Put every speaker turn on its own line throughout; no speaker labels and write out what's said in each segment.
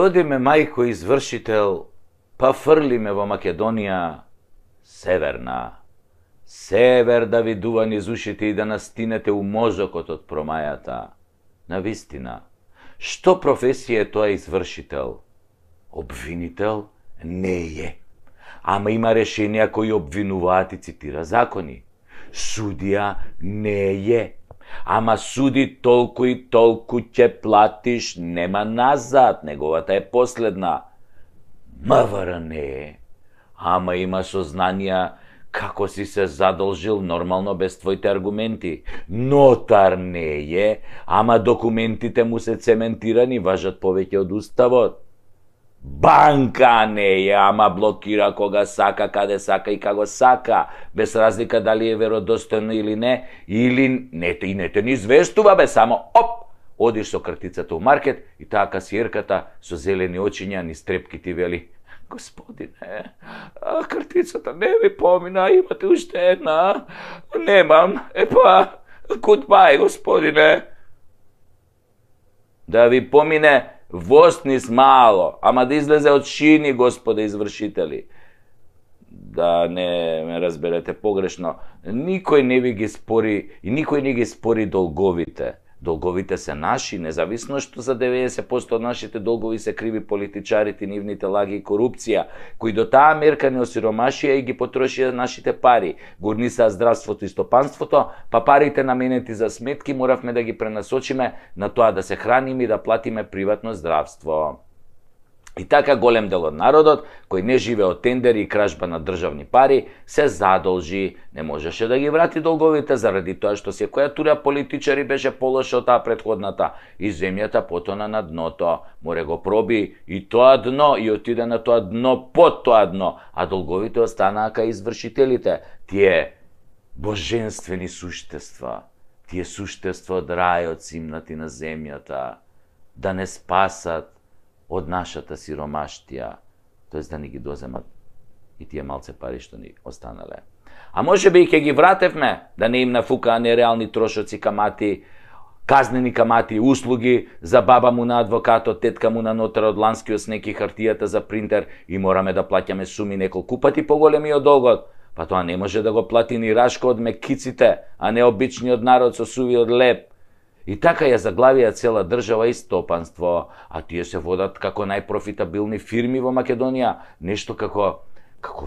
Роди ме мајко извршител, па фрли ме во Македонија северна. Север да ви дува низ ушите и да настинете у мозокот од промајата. Навистина, што професија е тоа извршител? Обвинител не е. Ама има решенија кои обвинуваат и цитира закони. Судија не е. Ама суди толку и толку ќе платиш, нема назад, неговата е последна. МВР не е. Ама има сознанија како си се задолжил нормално без твоите аргументи. Нотар не е, ама документите му се цементирани, важат повеќе од уставот. Банка не е, ама блокира кога сака, каде сака и како сака, без разлика дали е веродостојно или не, или не те ни известува, бе, само оп, одиш со картицата у маркет и таа касиерката со зелени очиња ни стрепки ти вели: Господине, картицата не ви помина, имате уште една. Немам, goodbye, господине. Да ви помине воснис мало, ама да излезе од шини, господе извршители. Да не ме разберете погрешно, никој не ви ги спори и никој не ги спори долговите. Долговите се наши, независно што за 90% од нашите долгови се криви политичарите, нивните лаги и корупција, кои до таа мерка не осиромашија и ги потрошија нашите пари. Горнисаа здравството и стопанството, па парите наменети за сметки моравме да ги пренасочиме на тоа да се храниме и да платиме приватно здравство. И така голем дел од народот, кој не живе од тендери и кражба на државни пари, се задолжи, не можеше да ги врати долговите заради тоа што секоја тура политичари беше полоша од таа претходната и земјата потона на дното. Море го проби и тоа дно и отиде на тоа дно под тоа дно, а долговите останаа кај извршителите. Тие божествени суштества, тие суштества од рајот симнати на земјата, да не спасат од нашата сиромаштија, тоест да ни ги доземат и тие малце пари што ни останале. А може би и ќе ги вратевме, да не им нафукаа нереални трошоци, камати, казнени камати, услуги за баба му на адвокатот, тетка му на нотарот, ланскиот снег и хартијата за принтер и мораме да плаќаме суми неколку пати поголеми од долгот. Па тоа не може да го плати ни Рашко од мекиците, а не обичниот народ со сувиот леп. И така ја заглавија цела држава и стопанство, а тие се водат како најпрофитабилни фирми во Македонија, нешто како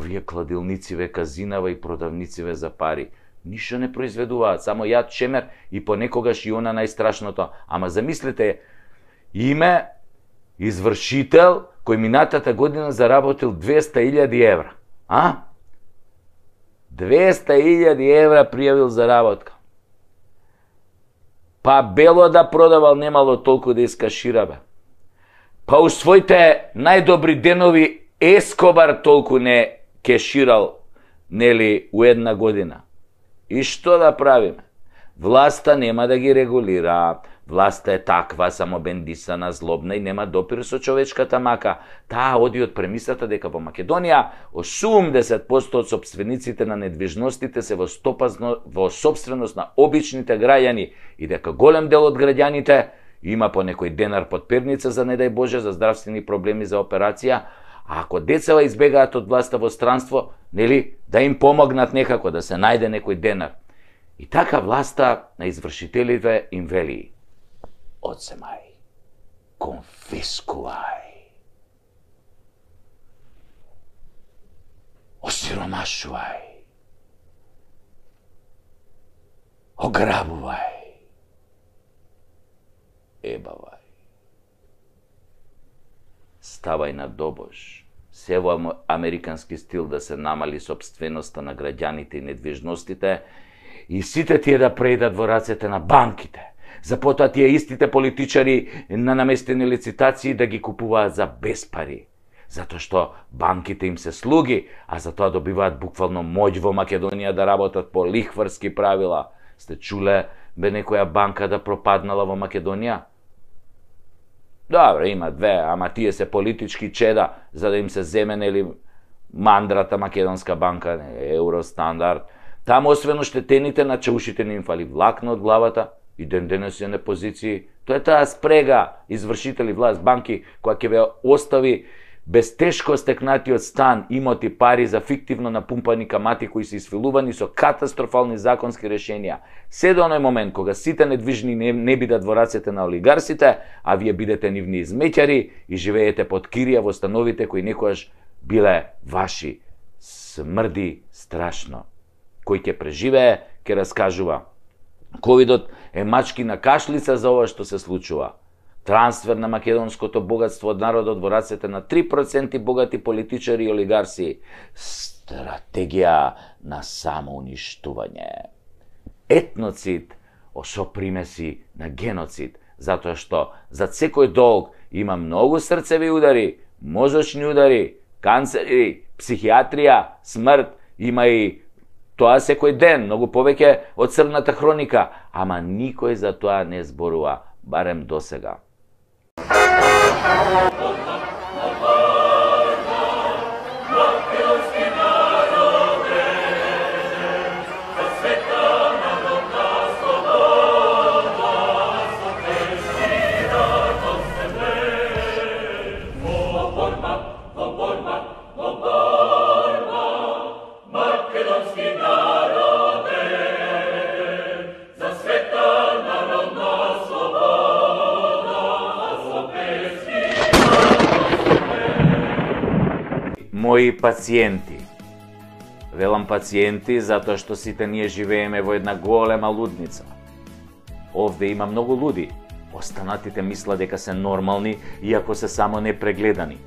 вие кладилнициве, казинава и продавнициве за пари. Ништо не произведуваат, само јад, чемер и понекогаш и она најстрашното. Ама замислете, име извршител кој минатата година заработил 200.000 евра. 200.000 евра пријавил заработка. Па бело да продавал, немало толку да искашира, бе. Па у своите најдобри денови Ескобар толку не кеширал, нели, у една година. И што да правиме? Власта нема да ги регулира. Власта е таква, само бендисана, злобна и нема допир со човечката мака. Таа оди од премисата дека во Македонија 80% од сопствениците на недвижностите се во сопственост на обичните граѓани и дека голем дел од граѓаните има по некој денар под перница за не дај Боже за здравствени проблеми за операција, а ако децава избегаат од власта во странство, нели, да им помогнат некако да се најде некој денар. И така власта на извршителите им вели: одземај, конфискувај, осиромашувај, ограбувај, ебавај. Ставај на добош, се во американски стил да се намали собственоста на граѓаните и недвижностите и сите тие да преидат во рацете на банките. За потоа тие истите политичари на наместени лицитации да ги купуваат за без пари. Затоа што банките им се слуги, а затоа добиваат буквално моќ во Македонија да работат по лихварски правила. Сте чуле бе некоја банка да пропаднала во Македонија? Добре, има две, ама тие се политички чеда за да им се земе, нели, мандрата Македонска банка, Евростандард. Таму освен оштетените на чаушите не им фали влакно од главата и ден денес е на позиции, Тоа е таа спрега извршители, власт, банки, која ќе ве остави без тешко стекнатиот стан, имоти, пари за фиктивно напумпани камати кои се исфилувани со катастрофални законски решенија. Се до оној момент кога сите недвижни не бидат во рацете на олигарсите, а вие бидете нивни измеќари и живеете под кирија во становите кои некојаш биле ваши. Смрди страшно. Кој ќе преживее, ќе раскажува. Ковидот е мачки на кашлица за ова што се случува. Трансфер на македонското богатство од народот во рацете на 3% богати политичари и олигарси. Стратегија на самоуништување. Етноцид со примеси на геноцид, затоа што зад секој долг има многу срцеви удари, мозочни удари, канцери, психијатрија, смрт, има и тоа секој ден, многу повеќе од црната хроника, ама никој за тоа не зборува, барем досега. Мои пациенти. Велам пациенти затоа што сите ние живееме во една голема лудница. Овде има многу луди. Останатите мислат дека се нормални, иако се само непрегледани.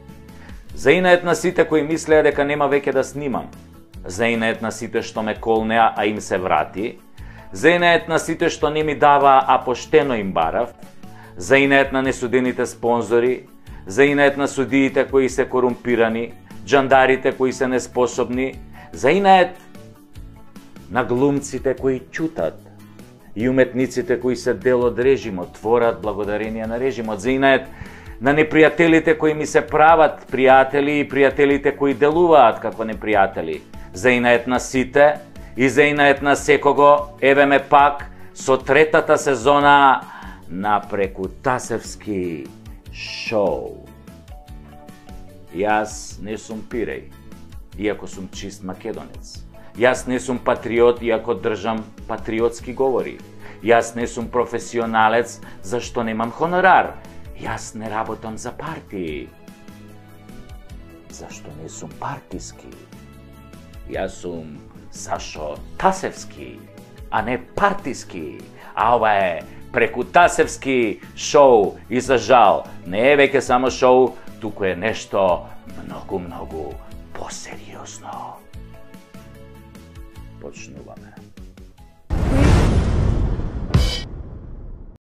Заинает на сите кои мислеа дека нема веќе да снимам. Заинает на сите што ме колнеа, а им се врати. Заинает на сите што не ми дава, а поштено им барав. Заинает на несудените спонзори. Заинает на судиите кои се корумпирани. Джандарите кои се неспособни, заинает на глумците кои ќутат и уметниците кои се дел од режимот, творат благодарение на режимот, заинает на непријателите кои ми се прават пријатели и пријателите кои делуваат како непријатели, заинает на сите и заинает на секого, еве ме пак со третата сезона на Прекутасевски шоу. Јас не сум пиреј, иако сум чист македонец. Јас не сум патриот, иако држам патриотски говори. Јас не сум професионалец, зашто немам хонорар. Јас не работам за партии, зашто не сум партиски. Јас сум Сашо Тасевски, а не партиски. А ова е Прекутасевски шоу и за жал не е веќе само шоу, туку е нешто многу посериозно. Почнуваме.